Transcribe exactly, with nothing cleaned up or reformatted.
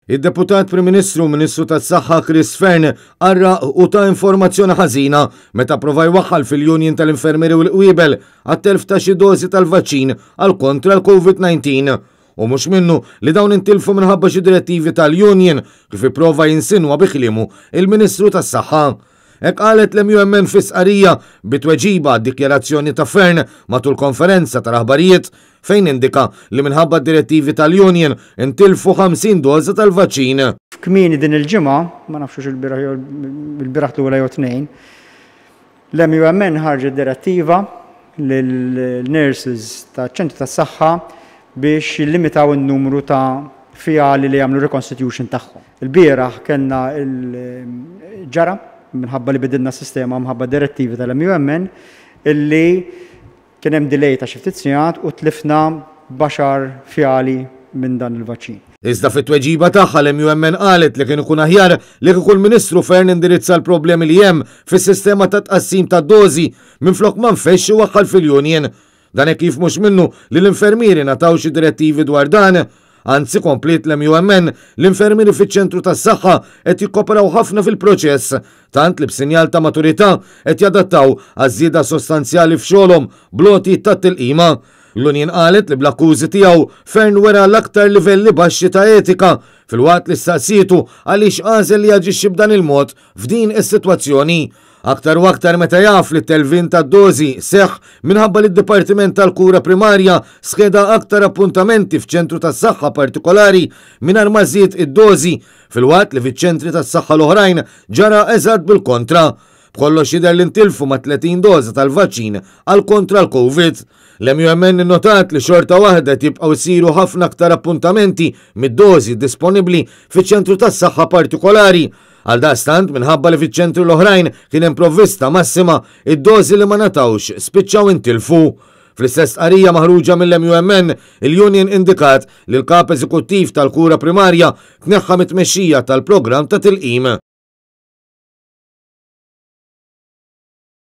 Id-Deputat Prim Ministru u Ministru tas-Saħħa Chris Fearne qarraq u ta informazzjoni ħażina meta prova jwaħħal fil-Union tal-Infermieri u l-Qwiebel għat-telf ta' xi dożi tal-vaċċin għal kontra l-Covid disa. U mhux minnu li dawn intilfu minħabba xi direttivi tal-Union, kif ipprova jinsinwa bi kliemu il-Ministru tas-Saħħa. Hekk qalet l-M U M N fi stqarrija bi tweġiba dikjarazzjoni ta' Fearne matul konferenza tal-aħbarijiet, fejn indika li minħabba direttivi tal-Union intilfu ħamsin doża tal-vaċċin. Kmieni din il-ġimgħa, ma nafx il-bieraħ jew il-bieraħ lura jew tnejn, l-M U M N ħarġet direttiva lill-nurses ta' ċentru tas-saħħa biex jillimitaw in-numru ta' fjali li jagħmlu reconstitution tagħhom. Il-bieraħ kellna il-ġara minħabba li bidilna s-sistema minħabba direttivi tal-M U M N illi kien hemm delay ta' xi ftit sigħat u tlifna għaxar fjali minn dan il-vaċċin. Iżda fit-tweġiba tagħha, l-M U M N qalet li kien ikun aħjar li kieku l-Ministru Fearne indirizza l-problemi li hemm fis-sistema ta' tqassim ta' dożi minflok ma nfexx iwaħħal fil-union. Dan hekk kif mhux minnu li l-infermieri ngħataw xi direttivi dwar dan. Anzi, kompliet l-M U M N, l-infermieri fiċ-ċentru tas-saħħa qed jikkoperaw ħafna fil-proċess, tant li b'sinjal ta' maturità qed jadattaw għaż-żieda sostanzjali f'xogħolhom bl-għoti tat-tilqima. L-Union qalet li bl-akkużi tiegħu Fearne wera l-aktar livelli baxxi ta' etika, filwaqt li staqsietu għaliex għażel li jaġixxi b'dan il-mod f'din is-sitwazzjoni, aktar u aktar meta jaf li t-telfien ta' dozi seħ minħabba li d-Dipartiment tal-Kura Primarja skeda aktar appuntamenti f'ċentru tas-saħħa partikolari mingħajr ma żied id-dozi, filwaqt li fiċ-ċentri tas-saħħa l-oħrajn ġara eżatt bil-kontra. B'kollox jidher li ntilfu ma' tletin doza tal-vaċċin għal kontra l-Covid. L-M U M N notat li xorta waħda jibqgħu jsiru ħafna aktar appuntamenti mid-dozi disponibbli fiċ-ċentru tas-saħħa partikolari. Għal daqstant, minħabba li fiċ-ċentru l-oħrajn kien hemm provvista massima, id-dozi li ma ngħatawx spiċċaw intilfu. Fl-istess stqarrija maħruġa mill-M U M N, il-Union indikat li l-kap eżekuttiv tal-kura primarja tneħħa mit-tmexxija tal-programm ta' tilqim.